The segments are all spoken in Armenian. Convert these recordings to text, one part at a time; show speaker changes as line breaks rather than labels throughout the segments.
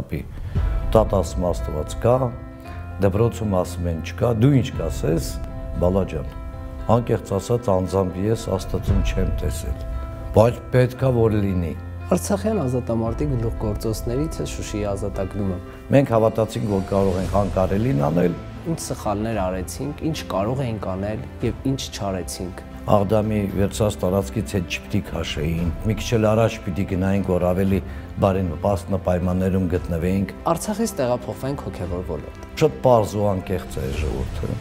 պապի, տատասում Աստված կա, դպրոցում ասում են չկա, դու ինչ կասես, բալա ջան, անկեղծ ասած անձամբ ես Աստծուն չեմ տեսել, բայց պետքա որ լինի։
Արցախյան ազատամարտի գլուխգործոցներից է Շուշիի ազատագրումը։
Մենք հավատացինք, որ կարող ենք անկարելին անել,
Ինչ սխալներ արեցինք, ինչ կարող էինք անել եւ ինչ չարեցինք։
Աղդամի վերցած տարածքից հետ չպիտի քաշեին, մի քիչ էլ առաջ պիտի գնայինք, որ ավելի բարենպաստ պայմաններում գտնվեինք։
Արցախից տեղափոխվենք հոգևոր ոլորտ։
Շատ պարզ ու անկեղծ է ժողովուրդը։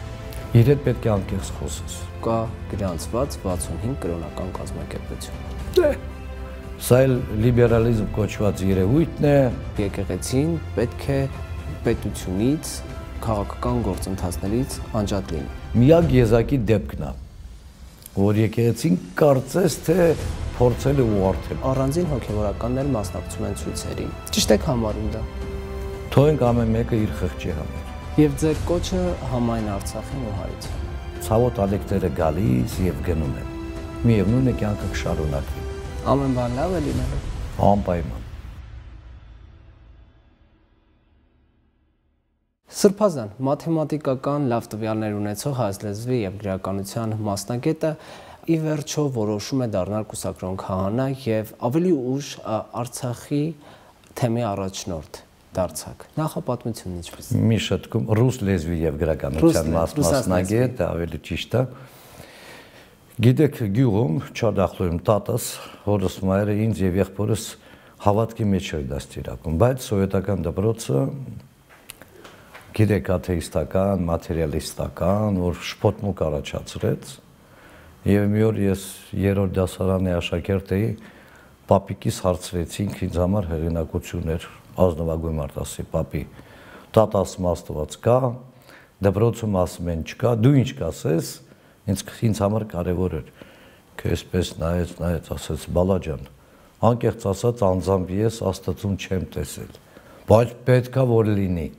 Իր հետ պետք է անկեղծ խոսես։
Կա գրանցված 65 կրոնական կազմակերպություն։
Դե, սա էլ լիբերալիզմ կոչված երևույթն է։
Եկեղեցին պետք է պետությունից, քաղաքական գործընթացներից անջատ լինի։
Միակ եզակի դեպքն է, որ եկեղեցին կարծես թե փորձել է ուղղորդել։
Առանձին հոգևորականներ մասնակցում են ցույցերին։ Ճիշտ եք համարում դա։
Թողենք ամեն մեկը իր խղճի համար։
Եվ ձեր կոչը համայն Արցախին ու հայցին։
Ցավոտ ալեկները գալիս եւ գնում են։ Միևնույն է կյանքը կշարունակվի։
Ամեն բան լավ է լինելու։
Անպայման։
Սրբազան, մաթեմատիկական լավ տվյալներ ունեցող հայ լեզվի եւ գրականության մասնագետը ի վերջո որոշում է դառնալ կուսակրոն քահանա եւ ավելի ուշ Արցախի թեմի առաջնորդ դարձակ։ Նախապատմությունն ինչպես։
Մի շտկում ռուս լեզվի եւ գրականության մասնագետ, ավելի ճիշտ է։ Գիտեք, գյուղում Չադախլոյում տատս, հորս մայրը ինձ եւ եղբորս հավատքի մեջ էր դաստիարակում, բայց սովետական դպրոցը գիտեք աթեիստական, մատերիալիստական, որ շփոթմունք առաջացրեց եւ մի օր ես երրորդ դասարանի աշակերտ էի, պապիկիս հարցրեցինք ինձ համար հեղինակություններ, ազնվագույն արտասի պապի, տատասում Աստված կա, դպրոցում ասում են չկա, դու ինչ կասես, ինձ համար կարևոր էր, քեզպես նայեց, ասեց բալա ջան, անկեղծ ասած անձամբ ես Աստծուն չեմ տեսել, բայց պետքա որ լինի։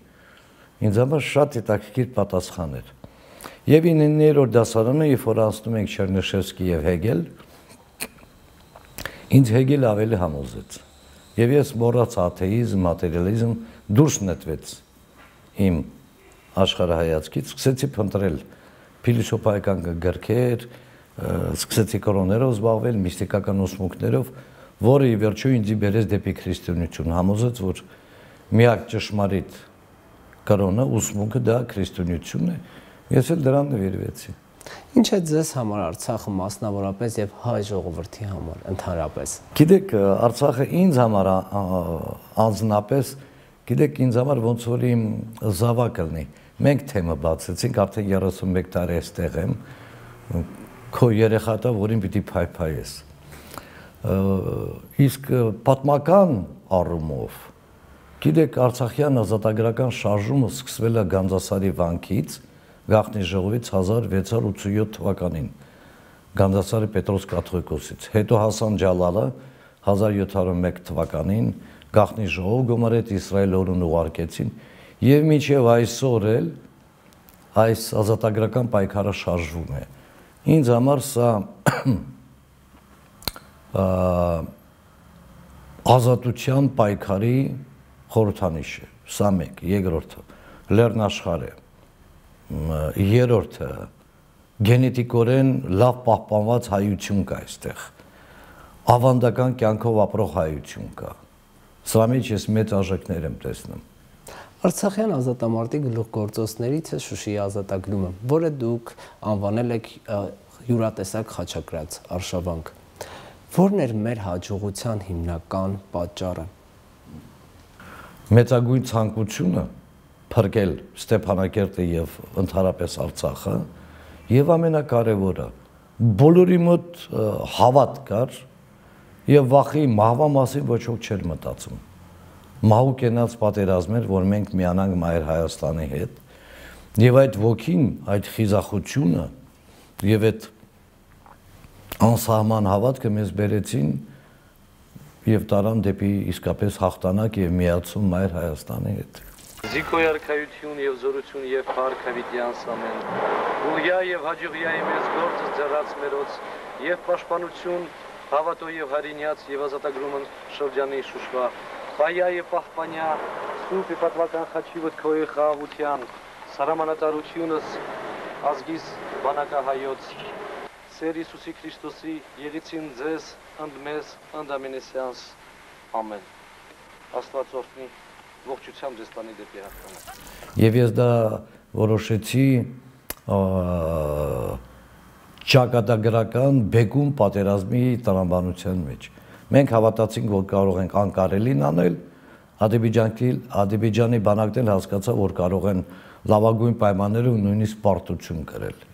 Ինձ համար շատ հետաքրքիր պատասխան էր։ Եվ 9-րդ դասարանը, երբ որ անցնում ենք Չերնիշևսկի եւ Հեգել, ինձ Հեգելը ավելի համոզեց։ Եվ ես մոռացա աթեիզմ, մատերիալիզմ, դուրս նետվեց իմ աշխարհայացքից, սկսեցի փնտրել փիլիսոփայական գրքեր, սկսեցի կրոններով զբաղվել, միստիկական ուսմունքներով, որը ի վերջո ինձ բերեց դեպի քրիստոնեություն, համոզեց, որ միակ ճշմարիտ կրոնը, ուսմունքը դա քրիստոնեությունն է, ես էլ դրան նվիրվեցի։
Ինչ է ձեզ համար Արցախը մասնավորապես եւ հայ ժողովրդի համար ընդհանրապես։
Գիտեք, Արցախը ինձ համար անձնապես, գիտեք, ինձ համար ոնց որ իմ զավակը լինի։ Մենք թեմը բացեցինք, արդեն 31 տարի այստեղ եմ, քո երեխատա, որին պիտի փայփայես։ Իսկ պատմական առումով գիտեք, Արցախյան ազատագրական շարժումը սկսվել է Գանձասարի վանքից, Գաղտնի ժողովից 1687 թվականին, Գանձասարի Պետրոս կաթողիկոսից, հետո Հասան Ջալալը 1701 թվականին, Գաղտնի ժողով գումարեց Իսրայել օրուն ուղարկեցին, եւ մինչեւ այսօր էլ այս ազատագրական պայքարը շարժվում է։ Ինձ համար սա ազատության պայքարի խորհրդանիշ է, սա մեկ, երկրորդը լեռնաշխարհ է, երրորդը գենետիկորեն լավ պահպանված հայություն կա այստեղ, ավանդական կյանքով ապրող հայություն կա, սրա մեջ ես մեծ արժեքներ եմ տեսնում։
Արցախյան ազատամարտի գլուխգործոցներից է Շուշիի ազատագրումը, որը դուք անվանել եք յուրատեսակ խաչակրաց արշավանք։ Որն էր մեր հաջողության հիմնական պատճառը։
Մեծագույն ցանկությունը փրկել Ստեփանակերտը եւ ընդհանրապես Արցախը եւ ամենակարևորը բոլորի մոտ հավատ կար եւ վախի մահվա մասին ոչ ոք չէր մտածում։ Մահու կենաց պատերազմ էր, որ մենք միանանք Մայր Հայաստանի հետ եւ այդ ոգին, այդ խիզախությունը եւ այդ անսահման հավատքը մեզ բերեցին եւ տարան դեպի իսկապես հաղթանակ եւ միացում Մայր Հայաստանի հետ։
Զիկոյ արքայություն եւ զորություն եւ փառք հավիտյանս ամեն։ Ուղիա եւ հաջողիա մեզ գործը ձեռած մերոց եւ պաշտպանություն հավատո եւ հարինյաց եւ ազատագրումն շրջանի Շուշվա, Պայա եւ պահպանյա Սուրբ Իպատվական խաչի վտքոյի խաղաղության սարամանատարությունս ազգիս բանակահայոց Սեր Հիսուսի Քրիստոսի եղիցին ձեզ ընդմեզ ընդամենեսյանս ամեն Աստված օրհնի ողջությամբ ձեզ տանի դեպի հաղթանակ
Եվ ես դա որոշեցի ճակատագրական բեկում պատերազմի տրամաբանության մեջ մենք հավատացինք որ կարող ենք անկարելին անել Ադրբեջանի բանակն հասկացա որ կարող են լավագույն պայմաններով նույնիսկ պարտություն կրել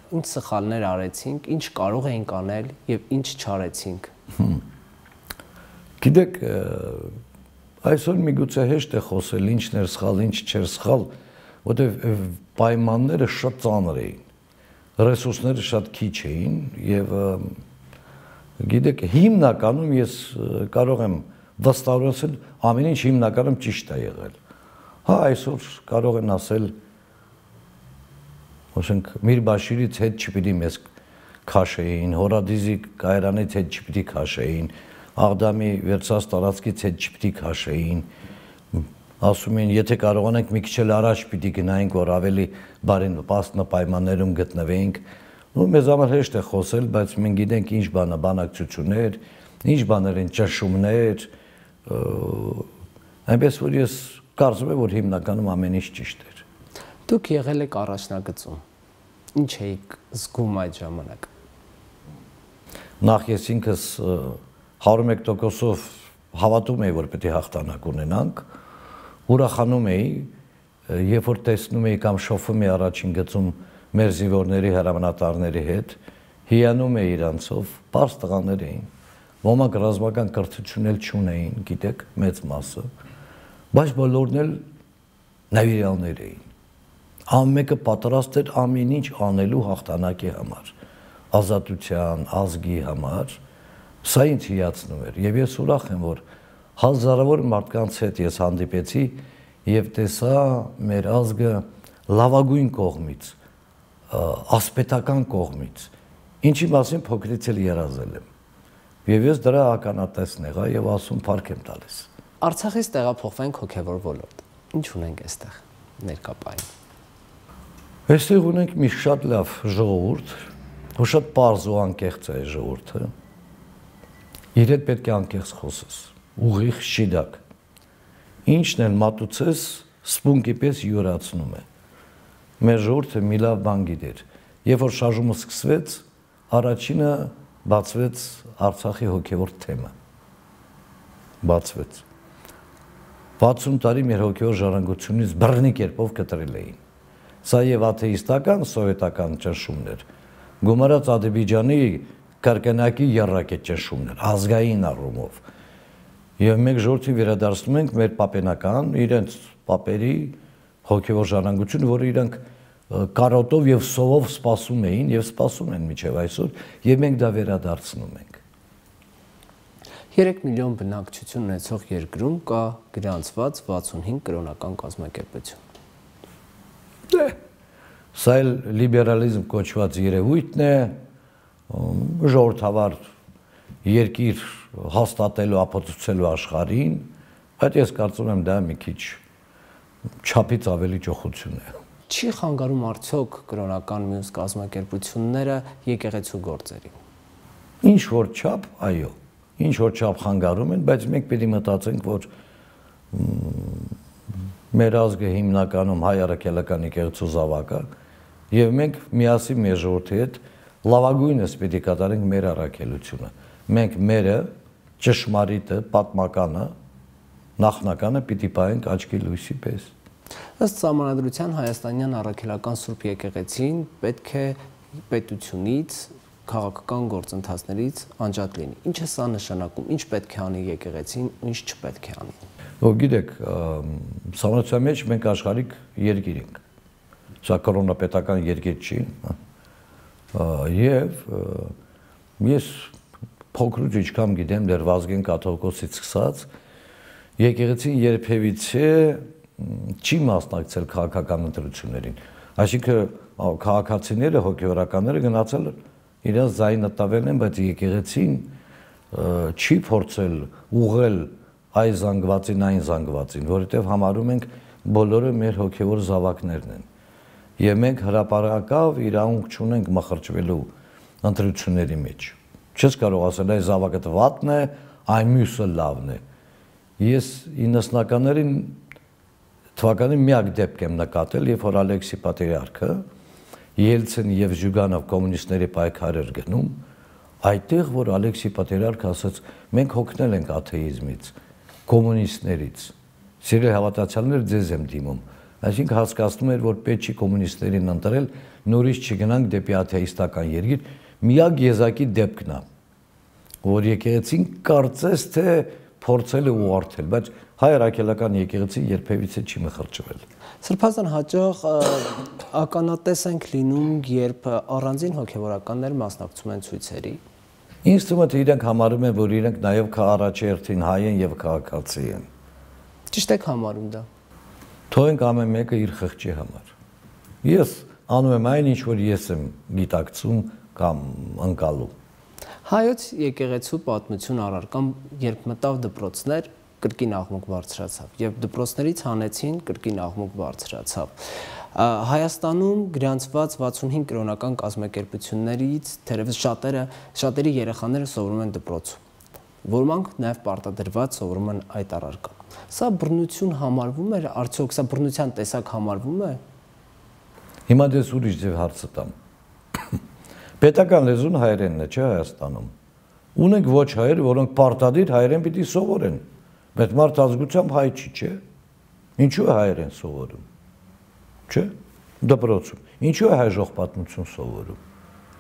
Ինչ սխալներ արեցինք, ինչ կարող էինք անել եւ ինչ չարեցինք։
Գիտեք, այսօր միգուցե հեշտ է խոսել ինչն էր սխալ, ինչ չէր սխալ, որտեղ պայմանները շատ ծանր էին, ռեսուրսները շատ քիչ էին եւ գիտեք, հիմնականում ես կարող եմ վստահորեն ամեն ինչ հիմնականում ճիշտ է եղել։ Հա, այսօր կարող են ասել Ոչինչ Միրբաշիրից հետ չպիտի մեզ քաշեին, Հորադիզի կայարանից հետ չպիտի քաշեին, Աղդամի վերցած տարածքից հետ չպիտի քաշեին, ասում են, եթե կարողանանք մի քիչ էլ առաջ պիտի գնայինք, որ ավելի բարենպաստ պայմաններում գտնվեինք, ու մեզ համար հեշտ է խոսել, բայց մենք գիտենք ինչ բան է բանակցություններ, ինչ բաներ են ճնշումներ, այնպես որ ես կարծում եմ, որ հիմնականում ամեն ինչ ճիշտ էր։
Դուք եղել եք առաջնագծում։ Ինչ էիք զգում այդ ժամանակ։
Նախ ես ինքս 101%-ով հավատում էի, որ պետք է հաղթանակ ունենանք, ուրախանում էի, երբ որ տեսնում էի կամ շոֆում էի առաջին գծում մեր զինվորների հրամանատարների հետ, հիանում էի իրանցով, պարզ տղաներ էին, ոմանք ռազմական կրթություն էլ չունեին, գիտեք, մեծ մասը, բայց բոլորն էլ նավիրյալներ էին։ Ամենը պատրաստ էր ամեն ինչ անելու հաղթանակի համար, ազատության, ազգի համար, սա ինձ հիացնում էր, եւ ես ուրախ եմ, որ հազարավոր մարդկանց հետ ես հանդիպեցի եւ տեսա մեր ազգը լավագույն կողմից, ասպետական կողմից, ինչի մասին փոքրից էլ երազել եմ։ Եվ ես դրա ականատեսն եղա եւ ասում փառք եմ տալիս։
Արցախից տեղափոխվենք հոգեվոր ոլորտ։ Ինչ ունենք այստեղ ներկապային։
Այստեղ ունենք մի շատ լավ ժողովուրդ, որ շատ պարզ ու անկեղծ է ժողովուրդը։ Իր հետ պետք է անկեղծ խոսես, ուղիղ շիդակ։ Ինչն էլ մատուցես, սպունգի պես յուրացնում է։ Մեր ժողովուրդը մի լավ բան գիտեր։ Երբ որ շարժումը սկսվեց, առաջինը բացվեց Արցախի հոգևոր թեմը։ Բացվեց։ 60 տարի մեր հոգևոր ժառանգությունից բռնի կերպով կտրել էին։ Սա եւ աթեիստական, սովետական ճնշումներ, գումարած Ադրբեջանի կրկնակի եռակետ ճնշումներ, ազգային առումով։ Եվ մենք ժողովրդին վերադարձնում ենք մեր պապենական, իրենց պապերի հոգևոր ժառանգություն, որը իրանք կարոտով եւ սովով սպասում էին եւ սպասում են մինչեւ այսօր, եւ մենք դա վերադարձնում ենք։
3 միլիոն բնակչություն ունեցող երկրում կա գրանցված 65 կրոնական կազմակերպություն։
Դե, սա էլ լիբերալիզմ կոչված երևույթն է, ժողովրդավար երկիր հաստատելու, ապացուցելու աշխարհին, բայց ես կարծում եմ դա մի քիչ չափից ավելի ճոխություն է։
Չի խանգարում արդյոք կրոնական մյուս կազմակերպությունները եկեղեցու գործերին։
Ինչ որ չափ, այո, ինչ որ չափ խանգարում են, բայց մենք պետք է մտածենք, որ մեր ազգը հիմնականում հայ առաքելական եկեղեցու զավակ է, եւ մենք միասին մեր ժողովրդի հետ լավագույնս պետք է կատարենք մեր առաքելությունը։ Մենք մերը ճշմարիտը, պատմականը, նախնականը պիտի պահենք աչքի լույսի պես։
Ըստ Սահմանադրության հայաստանյան առաքելական Սուրբ եկեղեցին պետք է պետությունից, քաղաքական գործընթացներից անջատ լինի։ Ինչ է սա նշանակում, ինչ պետք է անի եկեղեցին, ինչ չպետք է անի։
Գիտեք, Սահմանադրության մեջ մենք աշխարհիկ երկիր ենք։ Սա կրոնապետական երկիր չի։ Եվ ես փոքրուց ինչքան գիտեմ, դեռ Վազգեն կաթողիկոսից սկսած, եկեղեցին երբևիցե չի մասնակցել քաղաքական ընտրություններին։ Այսինքն քաղաքացիները, հոգևորականները գնացել իրենց ձայնը տվել են, բայց եկեղեցին չի փորձել ուղղել այս զանգվածին, այն զանգվածին, որովհետև համարում ենք բոլորը մեր հոգևոր զավակներն են։ Եվ մենք հրապարակավ իրավունք չունենք մխրճվելու ընտրությունների մեջ։ Չես կարող ասել այս զավակը վատն է, այն մյուսը լավն է։ Ես 90-ականներին թվականին միակ դեպք եմ նկատել, երբ որ Ալեքսի Պատրիարքը Ելցին եւ Զյուգանով կոմունիստների պայքար էր գնում, այդտեղ որ Ալեքսի Պատրիարքը ասաց, մենք հոգնել ենք աթեիզմից, կոմունիստներից, սիրելի հավատացյալներ, ձեզ եմ դիմում, այսինքն հասկացնում էր, որ պետք չի կոմունիստերին ընտրել, նորից չգնանք դեպի աթեիստական երկիր, միակ եզակի դեպքն է, որ եկեղեցին կարծես թե փորձել է ուղղորդել, բայց հայ առաքելական եկեղեցին երբևիցե չի մխրճվել։
Սրբազան հաճախ ականատես ենք լինում, երբ առանձին հոգևորականներ մասնակցում են ցույցերի։
Ինձ թվում է, թե իրենք համարում են, որ իրենք նաև առաջերտին հայ են եւ քաղաքացի են։
Ճիշտ եք համարում դա։
Թողենք ամեն մեկը իր խղճի համար։ Ես անում եմ այն, ինչ որ ես եմ գիտակցում կամ ընկալում։
Հայոց եկեղեցու պատմություն առարկան, երբ մտավ դպրոցներ, կրկին աղմուկ բարձրացավ եւ դպրոցներից հանեցին, կրկին աղմուկ բարձրացավ։ Հայաստանում գրանցված 65 կրոնական կազմակերպություններից թերևս շատերի երեխաները սովորում են դպրոցում, որոնք նաեւ պարտադրված սովորում են այդ առարկան։ Սա բռնություն համարվում է, արդյոք սա բռնության տեսակ համարվում է։
Հիմա դες ուրիշ ձև հարցը տամ։ Պետական լեզուն հայերենն է, չէ՞ Հայաստանում։ Ունենք ոչ հայեր, որոնք պարտադիր հայերեն պիտի սովորեն, բայց մարդ ազգությամբ հայ չի, չէ՞։ Ինչու է հայերեն սովորում։ Չէ՞։ Դպրոցում։ Ինչու է հայ ժողպատմություն սովորում։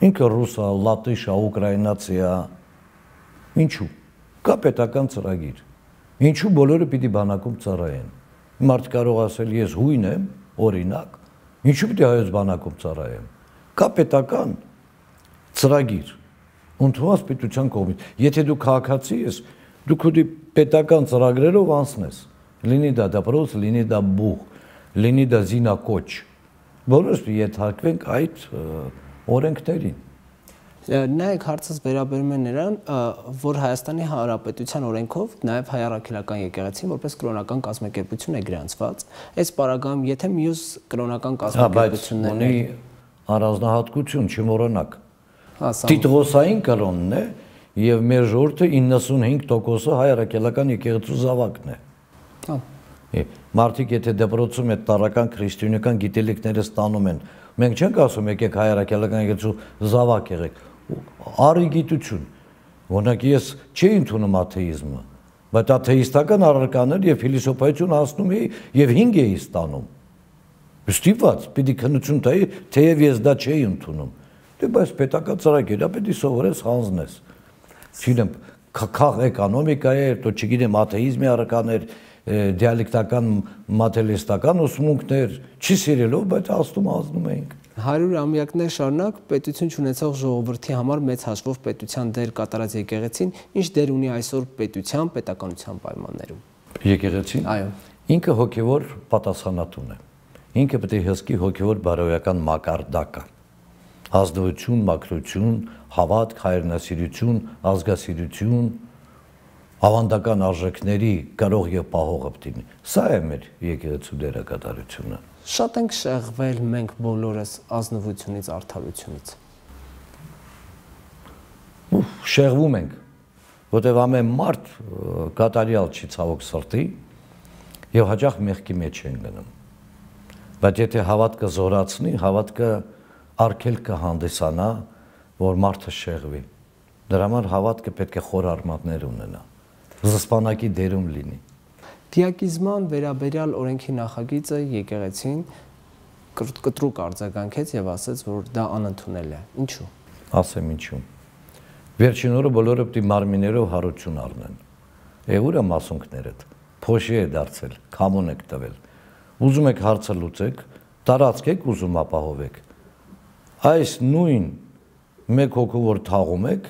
Ինքը ռուս է, լատիշ է, ուկրաինացի է։ Ինչու։ Կա պետական ծրագիր։ Ինչու բոլորը պիտի բանակում ծառայեն։ Մարդ կարող ասել ես հույն եմ, օրինակ, ինչու պիտի հայոց բանակում ծառայեմ։ Կա պետական ծրագիր, ընդունված պետության կողմից։ Եթե դու քաղաքացի ես, դու քո պետական ծրագրերով անցնես, լինի դա դպրոց, լինի դա բուղ, լինի դա զինակոչ, բոլորս ենթարկվենք այդ օրենքներին։
Նայեք, հարցս վերաբերում է նրան, որ Հայաստանի Հանրապետության օրենքով նաև հայ առաքելական եկեղեցին որպես կրոնական կազմակերպություն է գրանցված, այս պարագայում եթե մյուս կրոնական կազմակերպություններն
ունի առանձնահատկություն, չմոռանաք։ Տիտղոսային կրոնն է եւ մեր ժողովուրդը 95%-ը հայ առաքելական եկեղեցու զավակն է։ Մարդիկ եթե դպրոցում այդ տարական քրիստոնեական գիտելիքները ստանում են, մենք չենք ասում եկեք հայ առաքելական եկեղեցու զավակ եղեք, արի գիտություն։ Օրինակ ես չի ընդունում աթեիզմը, բայց աթեիստական առարկաներ եւ փիլիսոփայություն հասնում էի եւ 5 էի ստանում։ Ստիպված պիտի քննություն տայի, թեև ես դա չէի ընդունում։ Դե բայց պետական ծրագիր է, պետք է սովորես հանձնես։ Չգիտեմ, քաղ էկոնոմիկա է, то չգիտեմ, աթեիզմի առարկաներ, դիալեկտական մատերիալիստական ուսմունքներ, չի սիրելով, բայց ազդում էինք։
100-ամյակներ շարունակ պետություն չունեցող ժողովրդի համար մեծ հաշվով պետության դեր կատարած եկեղեցին, ինչ դեր ունի այսօր պետության, պետականության պայմաններում։
Եկեղեցին։
Այո։
Ինքը հոգևոր պատասխանատուն է։ Ինքը պետք է հսկի հոգևոր բարոյական մակարդակը։ Ազնվություն, մաքրություն, հավատք, հայրենասիրություն, ազգասիրություն, ավանդական արժեքների կարող եւ պահողը պետք է։ Սա է մեր եկեղեցու դերակատարությունը։
Շատ ենք շեղվել մենք բոլորս ազնվությունից, արդարությունից։
Շեղվում ենք, որտեղ ամեն մարդ կատարյալ չի ցավոք սրտի եւ հաճախ մեղքի մեջ են գնում։ Բայց եթե հավատքը զորացնի, հավատքը արգելքը հանդիսանա, որ մարդը շեղվի։ Դրա համար հավատքը պետք է խոր արմատներ ունենա, զսպանակի դերում լինի։
Դիակիզման վերաբերյալ օրենքի նախագիծը եկեղեցին կտրուկ արձագանքեց եւ ասաց, որ դա անընդունել է։ Ինչու։
Ասեմ ինչու։ Վերջին օրը բոլորը պետք է մարմիներով հարություն առնեն։ Ուր է մասունքներդ։ Փոշի է դարձել, քամոն եք տվել։ Ուզում եք հարցը լուծեք, տարածք եք ուզում ապահովեք։ Այս նույն մեկ հոգու որ թաղում եք,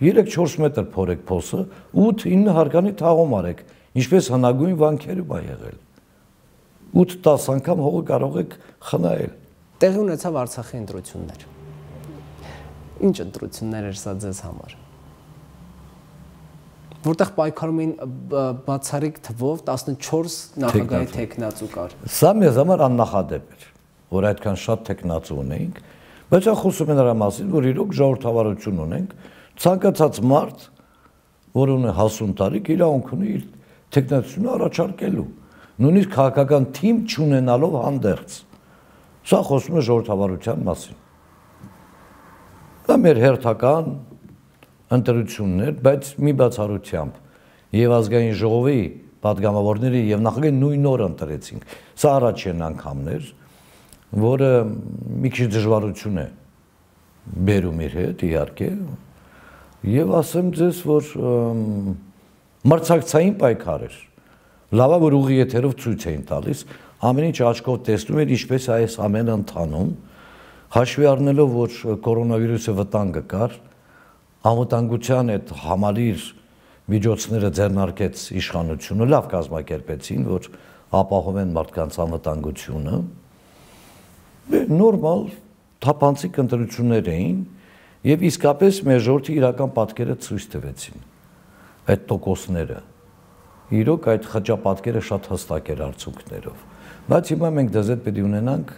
3-4 մետր փորեք փոսը, 8-9 հարկանի թաղում արեք, ինչպես հնագույն վանքերում է եղել։ 8-10 անգամ հողը կարող եք խնայել։
Տեղի ունեցավ Արցախի ընտրություններ։ Ինչ ընտրություններ էր սա ձեզ համար։ որտեղ պայքարում էին բացառիկ թվով 14 նախագահի տեխնացու կար։
Սա մեզ համար աննախադեպ էր, որ այդքան շատ տեխնացու ունեինք, բայց խոսում են նրա մասին, որ իրոք ժողովրդավարություն ունենք, ցանկացած մարդ, որ ունի 50 տարի, իրավունք ունի իր տեխնացությունը առաջարկելու, նույնիսկ քաղաքական թիմ չունենալով հանդերձ։ Սա խոսում է ժողովրդավարության մասին։ Դա մեր հերթական ընտրություններ, բայց մի բացառությամբ եւ ազգային ժողովի պատգամավորները եւ նախագահի նույն օրը ընտրեցինք։ Սա առաջին անգամն էր, որը մի քիչ դժվարություն է բերում իր հետ, իհարկե, եւ ասեմ ձեզ, որ մրցակցային պայքար էր։ Լավ է, որ ուղի եթերով ցույց էին տալիս, ամեն ինչ աչքով տեսնում էր, ինչպես այս ամենը ընթանում, հաշվի առնելով, որ կորոնավիրուսի վտանգը կար, անվտանգության այդ համալիր միջոցները ձեռնարկեց իշխանությունը, լավ կազմակերպեցին, որ ապահովեն մարդկանց անվտանգությունը։ Նորմալ թափանցիկ ընտրություններ էին եւ իսկապես մեր ժողովրդի իրական պատկերը ցույց տվեցին այդ տոկոսները։ Իրոք այդ խճապատկերը շատ հստակ էր արդյունքներով։ Բայց հիմա մենք դեզետ պետք է ունենանք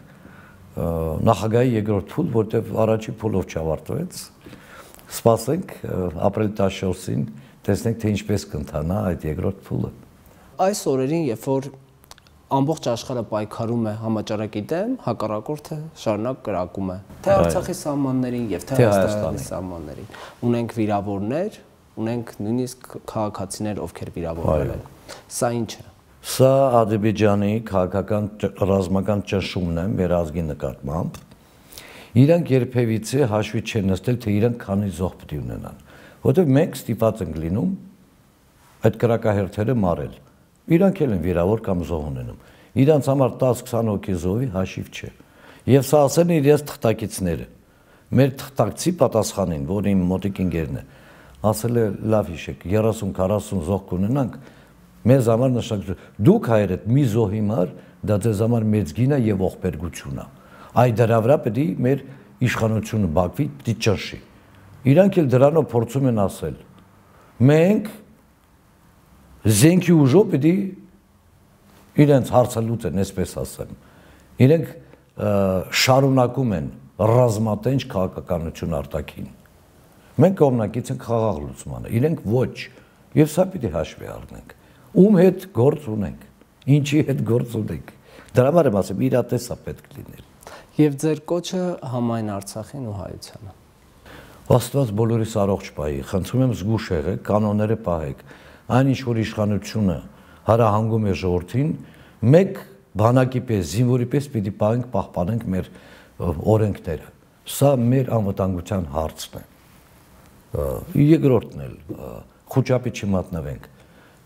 նախագահի երկրորդ փուլ, որտեղ առաջի փուլով չավարտվեց։ Սպասենք ապրիլի 14-ին, տեսնենք թե ինչպես կընթանա այդ երկրորդ փուլը։
Այս օրերին, երբ որ ամբողջ աշխարհը պայքարում է համաճարակի դեմ, հակառակորդը շարունակ կրակում է թե Արցախի սահմաններին եւ թե Հայաստանի սահմաններին։ Ունենք վիրավորներ, ունենք նույնիսկ քաղաքացիներ, ովքեր վիրավորվել են։ Սա ինչ է։
Սա Ադրբեջանի քաղաքական ռազմական ճնշումն է մեր ազգի նկատմամբ։ Իրանք երբևիցե հաշվի չեն նստել, թե իրանք քանի զոհ պետք է ունենան, որովհետև մենք ստիպված ենք լինում այդ կրակահերթերը մարել։ Իրանք էլ են վիրավոր կամ զոհ ունենում։ Իրանց համար 10-20 հոգի զոհի հաշիվ չէ։ Եվ սա ասեն իրենց թղթակիցները։ Մեր թղթակցի պատասխանին, որ իմ մոտիկ ընկերն է, ասել է լավ հիշեք, 30-40 զոհ կունենանք, մեզ համար նշանակություն։ Դուք հայերդ մի զոհի համար դա ձեզ համար մեծ գին է եւ ողբերգություն է։ Այդ դրա վրա պետք է մեր իշխանությունը Բաքվի պիտի ճնշի։ Իրանք էլ դրանով փորձում են ասել. մենք զենքի ուժով պետք է իրենց հարցը լուծեն, այսպես ասեմ։ Իրենք շարունակում են ռազմատենչ քաղաքականություն արտաքին։ Մենք կողմնակից ենք խաղաղ լուծմանը, իրենք ոչ, եւ սա պիտի հաշվի առնենք։ Ում հետ գործ ունենք, ինչի հետ գործ ունենք։ Դրա համար եմ ասում, իրատեսա պետք լինել։
Եվ ձեր կոչը համայն Արցախին ու հայությանը։
Աստված բոլորիս առողջ պահի, խնդրում եմ զգուշ եղեք, կանոնները պահեք։ Այն ինչ որ իշխանությունը հարահանգում է ժողովրդին, մեկ բանակի պես, զինվորի պես պիտի պահենք, պահպանենք մեր օրենքները։ Սա մեր անվտանգության հարցն է։ Երկրորդն էլ խոճապի չմատնվենք։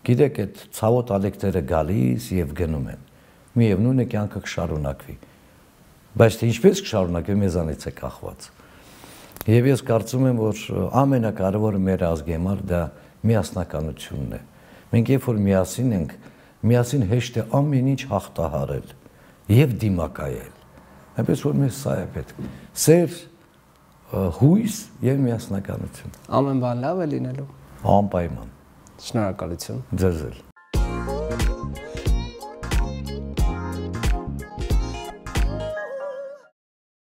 Գիտեք, այդ ցավոտ ալեկտերը գալիս եւ գնում են։ Միևնույն է կյանքը կշարունակվի։ Բայց թե ինչպես կշարունակվի, մեզանից է կախված։ Եվ ես կարծում եմ, որ ամենակարևորը մեր ազգի համար դա միասնականությունն է։ Մենք երբ որ միասին ենք, միասին հեշտ է ամեն ինչ հաղթահարել եւ դիմակայել։ Այնպես որ մեզ սա է պետք։ Սեր, հույս եւ միասնականություն։
Ամեն բան լավ է լինելու։
Անպայման։
Շնորհակալություն։
Ձեզ էլ։